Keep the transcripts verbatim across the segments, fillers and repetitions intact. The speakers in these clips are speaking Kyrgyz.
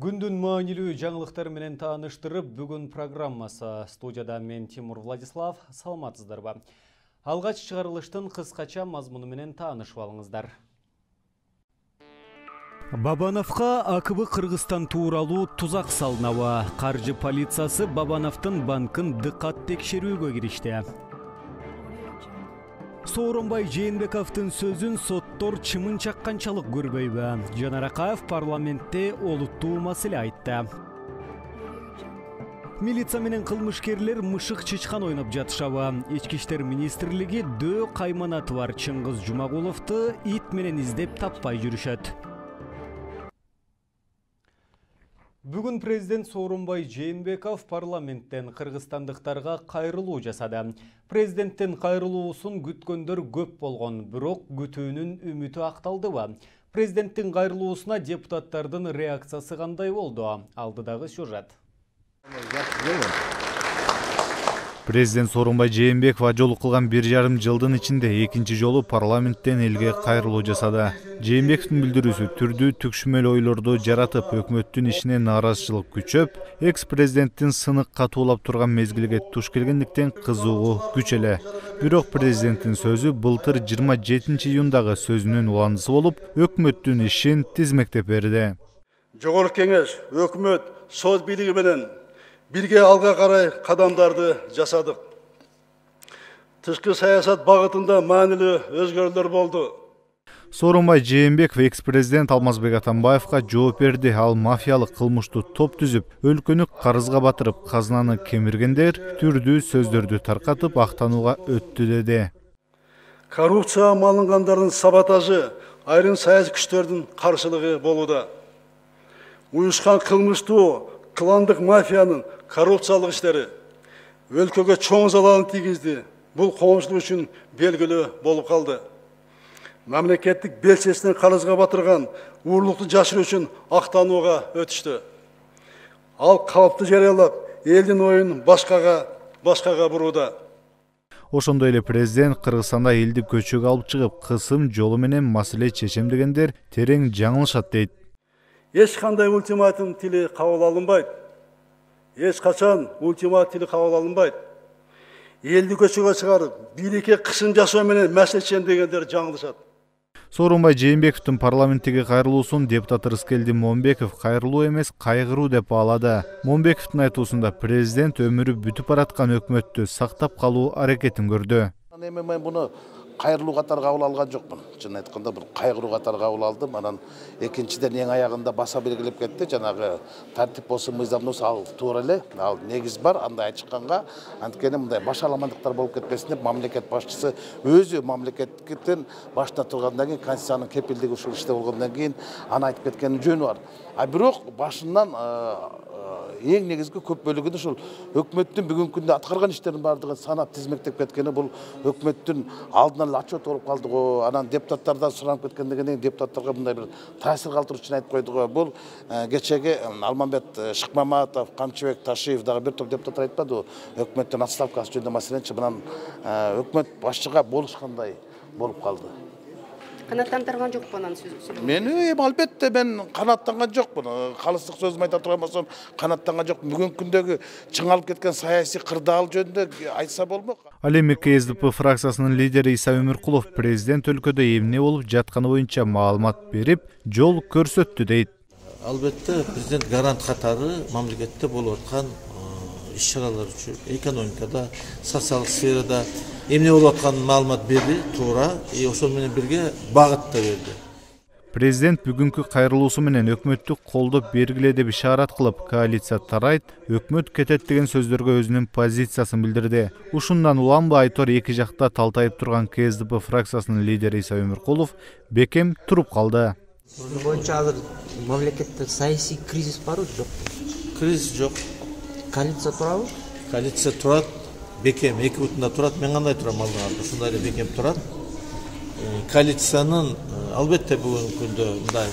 Күндүн маанилүү жаңылыктар менен тааныштырып, бүгүн программасы. Студияда мен Тимур Владислав, саламатсыздарбы? Алгач чыгарылыштын кыскача мазмуну менен таанышып алыңыздар. Бабановго А К Б Кыргызстан тууралуу тузак салынабы. Каржы полициясы Бабановдун банкын дыкат текшерүүгө киришти. Сооронбай Жээнбековдун сөзүн соттор чымын чакканчалык көрбөйбү. Жанар Акаев парламентте олуттуу маселе айтты. Милиция менен кылмышкерлер мышык чычкан ойноп жатышабы. Ички иштер министрлиги дөө кайманаты бар Чыңгыз Жумагуловду ит менен издеп таппай жүрүшөт. Бүгүн президент Сооронбай Жээнбеков парламенттен кыргызстандыктарга кайрылуу жасады. Президенттин кайрылуусун күткөндөр көп болгон, бирок күтүүнүн үмүтү акталдыбы? Президенттин кайрылуусуна депутаттардын реакциясы кандай болду? Алдыдагы сюжет. Президент Сооронбай Жээнбеков ажолу кылган бир жарым жылдын ичинде экинчи жолу парламенттен элге кайрылуу жасады. Жээнбековдун билдирүүсү түрдүү түкшүмөл ойлорду жаратып, өкмөттүн ишине нааразычылык күчөп, экс-президенттин сынык катуулап турган мезгилге туш келгендиктен кызуугу күч эле. Бирок президенттин сөзү былтыр жыйырма жетинчи июндагы сөзүнүн уландысы болуп, өкмөттүн ишин тизмектеп берди. Жогорку кеңеш, өкмөт, сот бийлиги менен бирге алга карай кадамдарды жасадык. Тышкы саясат багытында маанилүү өзгөрүүлөр болду. Сооронбай Жээнбеков экс-президент Алмазбек Атамбаевга жооп берди. Ал мафиялык кылмыштуу топ түзүп, өлкөнү карызга батырып, казынаны кемиргендер түрдүү сөздөрдү таркатып актанууга өттү деди. Коррупцияга малынгандардын саботажы айрым саясий күчтөрдүн каршылыгы болууда. Уюшкан кылмыштуу кландык мафиянын коррупциялык иштери өлкөгө чоң залалын тийгизди. Бул коомчулук үчүн белгилүү болуп калды. Мамлекеттик белчесинен карызга батырган уурлукту жашыруу үчүн актанууга өтүштү. Ал калпты жарыялап, элдин оюн башкага башкага бурууда. Ошондой эле президент Кыргызстанда элди көчөгө алып чыгып, кысым жолу менен маселе чечем дегендер терең жаңылышат дейт. Эч кандай ультиматум тили кабыл алынбайт. Эч качан ультиматум тили кабыл алынбайт. Элди көчөгө чыгарып, бийликке кысым жасоо менен маселе чечем дегендер жаңылышат. Сооронбай Жээнбековдун парламенттеги кайрылуусун депутат Рыскелди Момбеков кайрылуу эмес, кайгыруу деп баалады. Момбековдун айтуусунда президент өмүрү бүтүп бараткан өкмөттү сактап калуу аракетин көрдү. Мен буну кайрылуу катары кабыл алган жокмун. Чын айтканда бир кайгыруу катары кабыл алдым. Анан экинчиден эң аягында баса белгилеп кетти. Жанагы тартип болсун, мыйзам болсун, ал туура эле. Ал негиз бар. Андай ачыкканга, анткени мындай башаламандыктар болуп кетпесин деп мамлекет башчысы өзү мамлекеттин башында тургандан кийин конституциянын кепилдиги ушул иште болгондон кийин аны айтып кеткенин жөнү бар. А бирок башынан эң негизги көп бөлүгүн ушул өкмөттүн бүгүнкү күндө аткарган иштеринин баардыгын санап тизмектеп кеткени бул өкмөттүн алдынан эле отчет болуп калды го. Анан депутаттардан суранып кеткенден кийин депутаттарга мындай бир таасир калтыруу үчүн айтып койду го. Бул кечеги Алмамбет Шыкмаматов, Камчыбек Ташиев дагы бир топ депутаттар айтпадыбы? Өкмөттүн отставкасы жөнүндө маселенчи мынан өкмөт башчыга болушкандай болуп калды. Канаттандырган жокпу анан сөзүн? Мен албетте мен канаттанган жокмун. Калыстык сөзүм айта турган болсом, канаттанган жокмун. Бүгүнкү күндөгү чыңалып кеткен саясий кырдаал жөнүндө айтса болмок. Ал эми К С Д П фракциясынын лидери Иса Өмүркулов президент өлкөдө эмне болуп жатканы боюнча маалымат берип, жол көрсөттү дейт. Албетте президент гарант катары мамлекетте болуп аткан иш-чаралар үчүн экономикада, социалдык сферада эмне болуп атканын маалымат берди, туура, и ошол менен бирге багыт да берди. Президент бүгүнкү кайрылуусу менен өкмөттү колдоп бергиле деп ишарат кылып, коалиция тарайт, өкмөт кетет деген сөздөргө өзүнүн позициясын билдирди. Ушундан уланбы айтор эки жакта талтайып турган К С Д П фракциясынын лидери Иса Өмүркулов бекем туруп калды. Сиздин боюнча азыр мамлекетте саясий кризис барбы, жок? Кризис жок. Коалиция турабы? Коалиция турат, бекем эки бутунда турат. Мен кандай турам алдыга? Ушундай эле бекем турат. Коалициянын албетте бүгүнкү күндө мындай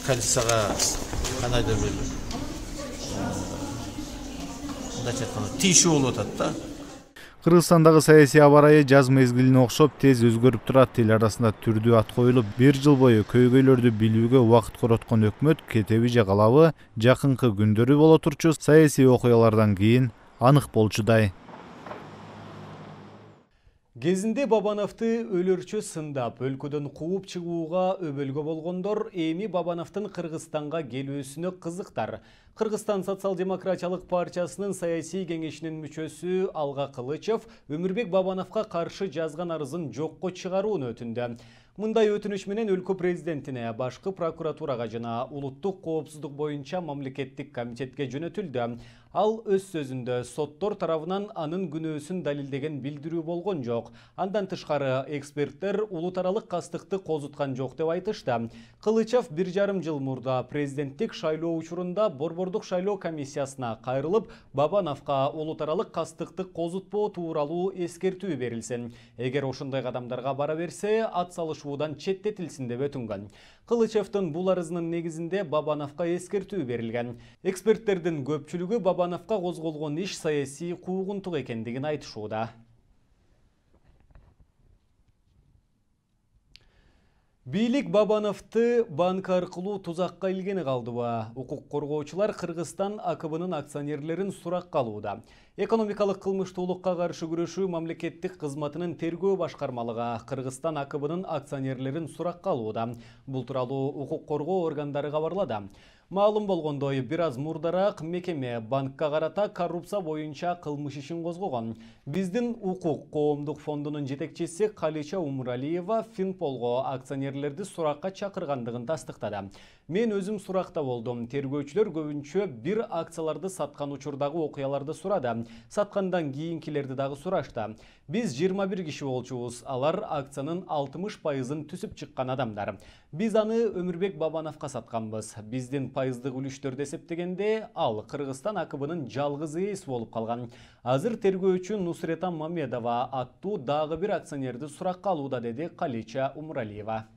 коалицияга кандайдыр бир мындайча айтканда тийишүү болуп атат да. Кыргызстандагы саясий аба ырайы жаз мезгилине окшоп тез өзгөрүп турат. Эл арасында түрдүү ат коюлуп, бир жыл бою көйгөйлөрдү билүүгө убакыт короткон өкмөт кетеби же калабы жакынкы күндөрү боло турчу саясий окуялардан кийин анык болчудай. Кезинде Бабановду өлөрчө сындап, өлкөдөн кууп чыгууга өбөлгө болгондор эми Бабановдун Кыргызстанга келүүсүнө кызыктар. Кыргызстан социал-демократиялык партиясынын саясий кеңешинин мүчөсү Алга Кылычев Өмүрбек Бабановго каршы жазган арызын жокко чыгарууну өтүндү. Мындай өтүнүч менен өлкө президентине, башкы прокуратурага жана улуттук коопсуздук боюнча мамлекеттик комитетке жөнөтүлдү. Ал өз сөзүндө соттор тарабынан анын күнөөсүн далилдеген билдирүү болгон жок. Андан тышкары эксперттер улут аралык кастыкты козуткан жок деп айтышты. Кылычев бир жарым жыл мурда президенттик шайлоо учурунда Борбордук шайлоо комиссиясына кайрылып, Бабановго улут аралык кастыкты козутпоо тууралуу эскертүү берилсин. Эгер ошондой кадамдарга бара берсе, ат салышуудан четтетилсин деп өтүнгөн. Кылычевдин бул арызынын негизинде Бабановго эскертүү берилген. Эксперттердин көпчүлүгү Бабановго козголгон иш саясий куугунтук экендигин айтышууда. Бийлик Бабановду банк аркылуу тузакка илгени калдыбы? Укук коргоочулар Кыргызстан АКБнын акционерлерин суракка алууда. Экономикалык кылмыштуулукка каршы күрөшүү мамлекеттик кызматынын тергөө башкармалыгы Кыргызстан АКБнын акционерлерин суракка алууда. Бул тууралуу укук коргоо органдары кабарлады. Маалым болгондой, бир аз мурдараак мекеме банкка карата коррупция боюнча кылмыш ишин козгогон. Биздин укук коомдук фондунун жетекчиси Калича Умуралиева Финполго акционерлерди суракка чакыргандыгын тастыктады. Мен өзүм суракта болдум. Тергөөчүлөр көбүнчө бир акцияларды саткан учурдагы окуяларды сурады. Саткандан кийинкилерди дагы сурашты. Биз жыйырма бир киши болчубуз. Алар акциянын алтымыш пайызын түсүп чыккан адамдар. Биз аны Өмүрбек Бабановго сатканбыз. Биздин пайыздык үлүштөрдү эсептегенде ал Кыргызстан АКБнын жалгыз ээси болуп калган. Азыр тергөөчү Нусрета Мамедова аттуу дагы бир акционерди суракка алууда, деди Калича Умуралиева.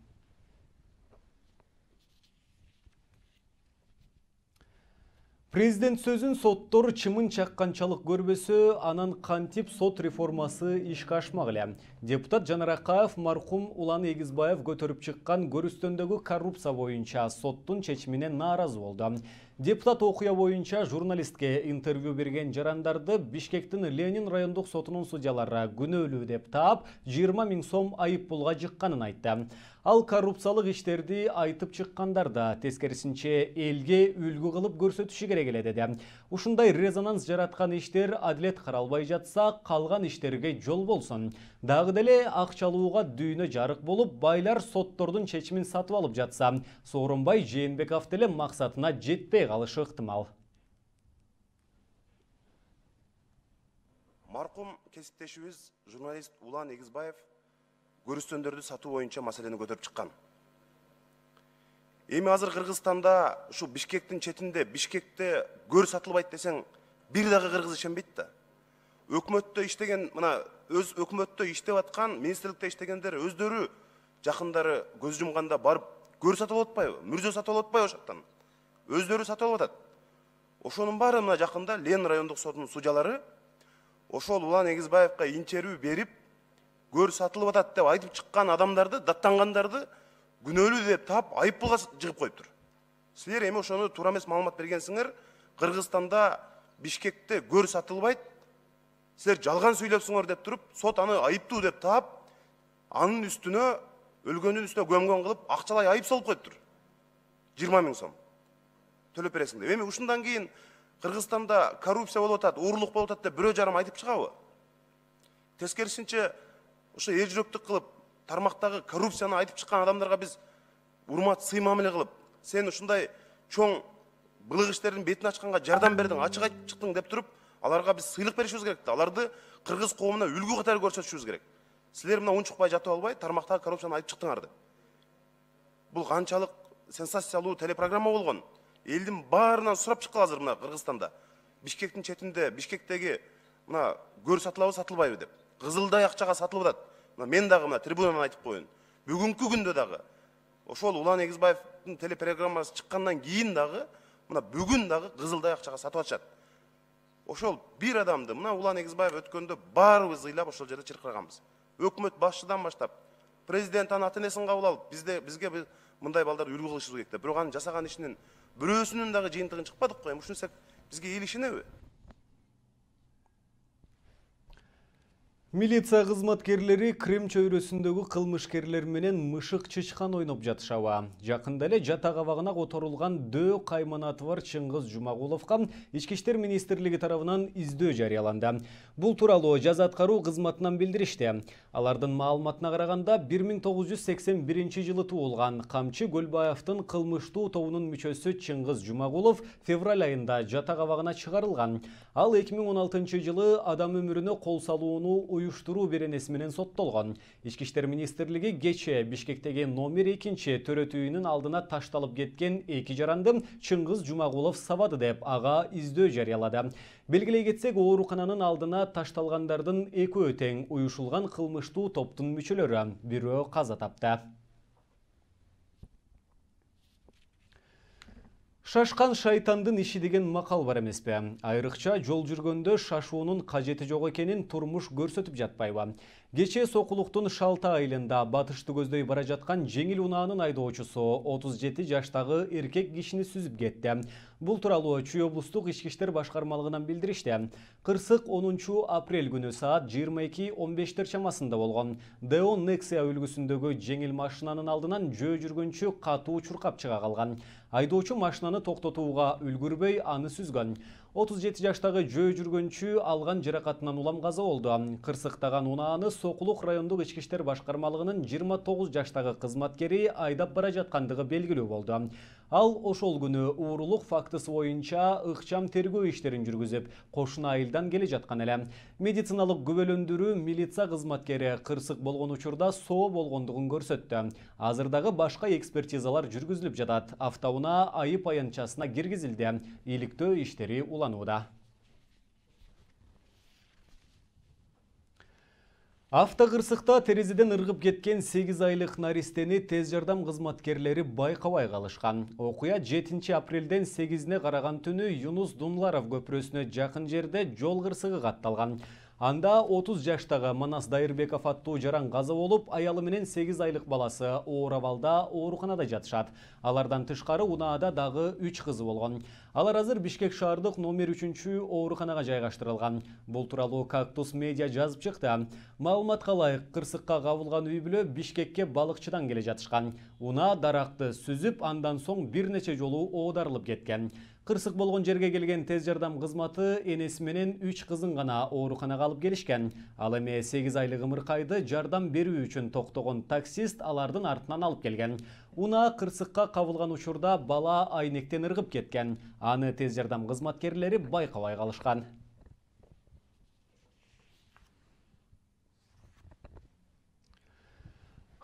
Президент сөзүн соттор чымын чакканчалык көрбөсө, анан кантип сот реформасы ишке ашмак эле. Депутат Жанар Акаев маркум Улан Эгизбаев көтөрүп чыккан көрүстөндөгү коррупция боюнча соттун чечимине нааразы болду. Депутат окуя боюнча журналистке интервью берген жарандарды Бишкектин Ленин райондук сотунун судьялары күнөөлүү деп таап, жыйырма миң сом айып пулга жыкканын айтты. Ал коррупциялык иштерди айтып чыккандарды тескерисинче элге үлгү кылып көрсөтүшү керек эле деди. Ушундай резонанс жараткан иштер адилет каралбай жатса, калган иштерге жол болсун. Дагы деле акчалууга дүйнө жарык болуп, байлар соттордун чечимин сатып алып жатса, Сооронбай Жээнбеков деле максатына жетпей калышы ыктымал. Маркум кесиптешибиз журналист Улан Эгизбаев көрүстөндөрдү сатуу боюнча маселени көтөрүп чыккан. Эми азыр Кыргызстанда ушу Бишкектин четинде Бишкекте көр сатылбайт десең, бир дагы кыргыз ишенбейт да. Өкмөттө иштеген, мына өз өкмөттө иштеп аткан, министрликте иштегендер өздөрү жакындары көз жумганда барып көр сатып алып атпайбы, мүрзө сатып алып атпайбы ошоктон. Өздөрү сатып алып атат. Ошонун баары мына жакында Ленин райондук сотунун судьялары ошол Улан Эгизбаевка интервью берип, көр сатылып атат деп айтып чыккан адамдарды, даттангандарды күнөөлүү деп таап, айып пулга жыгып коюптур. Силер эми ошону туура эмес маалымат бергенсиңер, Кыргызстанда Бишкекте көр сатылбайт, силер жалган сүйлөпсүңөр деп туруп, сот аны айыптуу деп таап, анын үстүнө, өлгөндүн үстүнө көмгөн кылып, акчалай айып салып коюптур. жыйырма миң сом төлөп бересиң деп. Эми ушундан кийин Кыргызстанда коррупция болуп атат, уурлук болуп атат деп бирөө жарым айтып чыгабы? Тескерисинче, ошо эл жүрөктүк кылып, тармактагы коррупцияны айтып чыккан адамдарга биз урмат, сый мамиле кылып, сен ушундай чоң былык иштердин бетин ачканга жардам бердиң, ачык айтып чыктың деп туруп, аларга биз сыйлык беришибиз керек да. Аларды кыргыз коомуна үлгү катары көрсөтүшүбүз керек. Силер мына унчукпай жатып албай, тармактагы коррупцияны айтып чыктыңар деп. Бул канчалык сенсациялуу телепрограмма болгон. Элдин баарынан сурап чыккан азыр мына Кыргызстанда. Бишкектин четинде, Бишкектеги мына көр сатылабы, сатылбайбы деп. Кызылдай акчага сатылып атат. Мына мен дагы мына трибунадан айтып коеюн. Бүгүнкү күндө дагы ошол Улан Эгизбаевдин телепрограммасы чыккандан кийин дагы, мына бүгүн дагы кызылдай акчага сатып атышат. ошол бир адамды мына Улан Эгизбаев өткөндө баарыбыз ыйлап ошол жерде чыркыраганбыз. Өкмөт башчыдан баштап президент анын ата энесин кабыл алып бизде бизге мындай балдар үлгү кылышыбыз керек деп. Бирок анын жасаган ишинин бирөөсүнүн дагы жыйынтыгын чыкпадык го. Эми ушинтсек бизге эл ишенеби? Милиция кызматкерлери Крым чөйрөсүндөгү кылмышкерлер менен мышык чычкан ойноп жатышабы. Жакында эле жатак абагына которулган Дөө кайманаты бар Чыңгыз Жумагуловго Ички иштер министрлиги тарабынан издөө жарыяланды. Бул тууралуу жаза аткаруу кызматынан билдиришти. Алардын маалыматына караганда бир миң тогуз жүз сексен биринчи жылы туулган Камчы Көлбаевдин кылмыштуу тобунун мүчөсү Чыңгыз Жумагулов февраль айында жатак абагына чыгарылган. Ал эки миң он алтынчы жылы адам өмүрүнө кол салууну уюштуруу беренеси менен соттолгон. Ички иштер министрлиги кечээ Бишкектеги номер экинчи төрөт үйүнүн алдына ташталып кеткен эки жаранды Чыңгыз Жумагулов сабады деп ага издөө жарыялады. Белгилей кетсек, оорукананын алдына ташталгандардын экөө тең уюшулган кылмыштуу топтун мүчөлөрү, бирөө каза тапты. Шашкан шайтандын иши деген макал бар эмеспи? Айрыкча жол жүргөндө шашуунун кажети жок экенин турмуш көрсөтүп жатпайбы? Кечээ Сокулуктун Шалта айылында батышты көздөй бара жаткан жеңил унаанын айдоочусу отуз жети жаштагы эркек кишини сүзүп кетти. Бул тууралуу Чүй облустук ички иштер башкармалыгынан билдиришти. Кырсык онунчу апрель күнү саат жыйырма эки он бештер чамасында болгон. Део Nexia үлгүсүндөгү жеңил машинанын алдынан жөө жүргөнчү катуу чуркап чыга калган. Айдоочу машинаны токтотууга үлгүрбөй аны сүзгөн. отуз жети жаштагы жөө жүргөнчү алган жаракатынан улам каза болду. Кырсыктаган унааны Сокулук райондук ички иштер башкармалыгынын жыйырма тогуз жаштагы кызматкери айдап бара жаткандыгы белгилүү болду. Ал ошол күнү уурулук фактысы боюнча ыкчам тергөө иштерин жүргүзүп, кошуна айылдан келе жаткан эле. Медициналык күбөлөндүрүү милиция кызматкери кырсык болгон учурда соо болгондугун көрсөттү. Азыр дагы башка экспертизалар жүргүзүлүп жатат. Автоунаа айып аянтчасына киргизилди. Иликтөө иштери уланууда. Автокырсыкта терезеден ыргып кеткен сегиз айлык наристени тез жардам кызматкерлери байкабай калышкан. Окуя жетинчи апрелден сегизине караган түнү Юнус Дунларов көпүрөсүнө жакын жерде жол кырсыгы катталган. Анда отуз жаштагы Манас Дайырбеков аттуу жаран каза болуп, аялы менен сегиз айлык баласы оор абалда ооруканада жатышат. Алардан тышкары унаада дагы үч кызы болгон. Алар азыр Бишкек шаардык номер үчүнчү ооруканага жайгаштырылган. Бул тууралуу Кактус медиа жазып чыкты. Маалыматка ылайык, кырсыкка кабылган үй бүлө Бишкекке балыкчыдан келе жатышкан. Унаа даракты сүзүп, андан соң бир нече жолу оодарылып кеткен. Кырсык болгон жерге келген тез жардам кызматы энеси менен үч кызын гана ооруканага алып келишкен. Ал эми сегиз айлык ымыркайды жардам берүү үчүн токтогон таксист алардын артынан алып келген. Унаа кырсыкка кабылган учурда бала айнектен ыргып кеткен. Аны тез жардам кызматкерлери байкабай калышкан.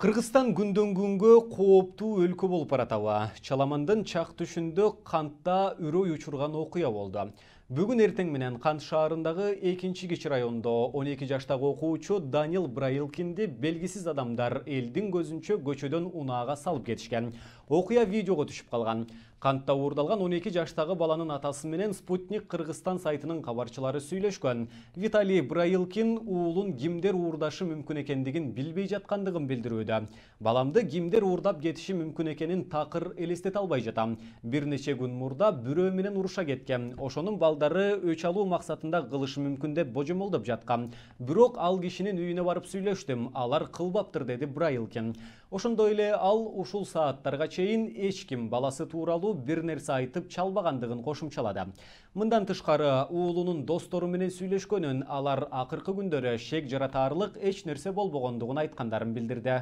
Кыргызстан күндөн күнгө кооптуу өлкө болуп баратабы. Чаламандын чак түшүндө кантта үрөй учурган окуя болду. Бүгүн эртең менен Кант шаарындагы экинчи кичи райондо он эки жаштагы окуучу Данил Брайылкинди белгисиз адамдар элдин көзүнчө көчөдөн унаага салып кетишкен. Окуя видеого түшүп калган. Кантта уурдалган он эки жаштагы баланын атасы менен Спутник Кыргызстан сайтынын кабарчылары сүйлөшкөн. Виталий Брайылкин уулун кимдер уурдашы мүмкүн экендигин билбей жаткандыгын билдирүүдө. Баламды кимдер уурдап кетиши мүмкүн экенин такыр элестете албай жатам. Бир нече күн мурда бирөө менен уруша кеткен. Ошонун балдары өч алуу максатында кылышы мүмкүн деп божомолдоп жаткан. Бирок ал кишинин үйүнө барып сүйлөштүм. Алар кылбаптыр, деди Брайылкин. Ошондой эле ал ушул сааттарга чейин эч ким баласы тууралуу бир нерсе айтып чалбагандыгын кошумчалады. Мындан тышкары уулунун достору менен сүйлөшкөнүн, алар акыркы күндөрү шек жаратаарлык эч нерсе болбогондугун айткандарын билдирди.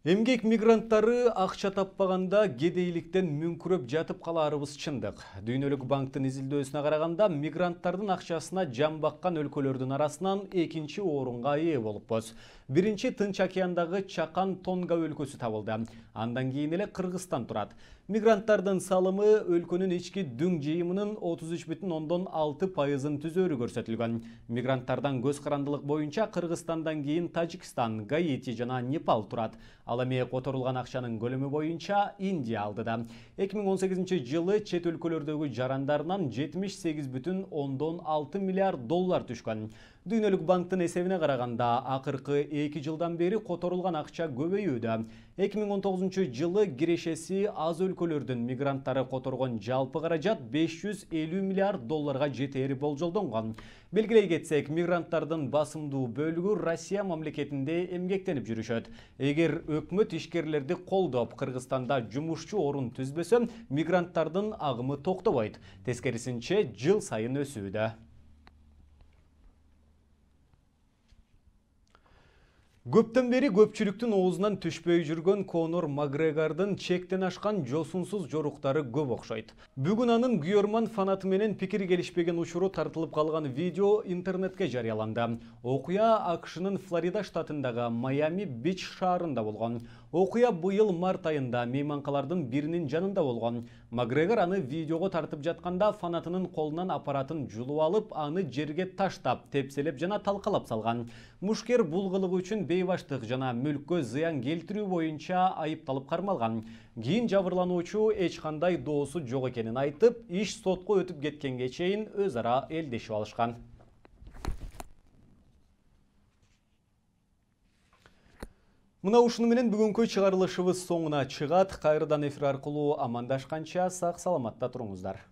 Эмгек мигранттары акча таппаганда кедейликтен мүңкүрөп жатып калаарыбыз чындык. Дүйнөлүк банктын изилдөөсүнө караганда мигранттардын акчасына жан баккан өлкөлөрдүн арасынан экинчи орунга ээ болуппуз. Биринчи Тынч океандагы Чакан Тонга өлкөсү табылды. Андан кийин эле Кыргызстан турат. Мигранттардын салымы өлкөнүн ички дүң жыйымынын отуз үч бүтүн ондон алты пайызын түзөөрү көрсөтүлгөн. Мигранттардан көз карандылык боюнча Кыргызстандан кийин Тажикстан, Гаити жана Непал турат. Ал эми которулган акчанын көлөмү боюнча Индия алдыда. эки миң он сегизинчи жылы чет өлкөлөрдөгү жарандарынан жетимиш сегиз бүтүн ондон алты миллиард доллар түшкөн. Дүйнөлүк банктын эсебине караганда, акыркы эки жылдан бери которулган акча көбөйүүдө. эки миң он тогузунчу жылы кирешеси аз өлкөлөрдүн мигранттары которгон жалпы каражат беш жүз элүү миллиард долларга жетери болжолдонгон. Белгилей кетсек, мигранттардын басымдуу бөлүгү Россия мамлекетинде эмгектенип жүрүшөт. Эгер өкмөт ишкерлерди колдоп, Кыргызстанда жумушчу орун түзбөсө, мигранттардын агымы токтобойт. Тескерисинче, жыл сайын өсүүдө. Көптөн бери көпчүлүктүн оозунан түшпөй жүргөн Конор Макгрегордун чектен ашкан жосунсуз жоруктары көп окшойт. Бүгүн анын күйөрман фанаты менен пикири келишпеген учуру тартылып калган видео интернетке жарыяланды. Окуя АКШнын Флорида штатындагы Майами-Бич шаарында болгон. Окуя быйыл март айында мейманкалардын биринин жанында болгон. Макгрегор аны видеого тартып жатканда фанатынын колунан аппаратын жулуп алып, аны жерге таштап, тепселеп жана талкалап салган. Мушкер бул кылыгы үчүн бейбаштык жана мүлккө зыян келтирүү боюнча айыпталып кармалган. Кийин жабырлануучу эч кандай доосу жок экенин айтып, иш сотко өтүп кеткенге чейин өз ара элдешип алышкан. Мына ушуну менен бүгүнкү чыгарылышыбыз соңуна чыгат. Кайрадан эфир аркылуу амандашканча сак саламатта туруңуздар.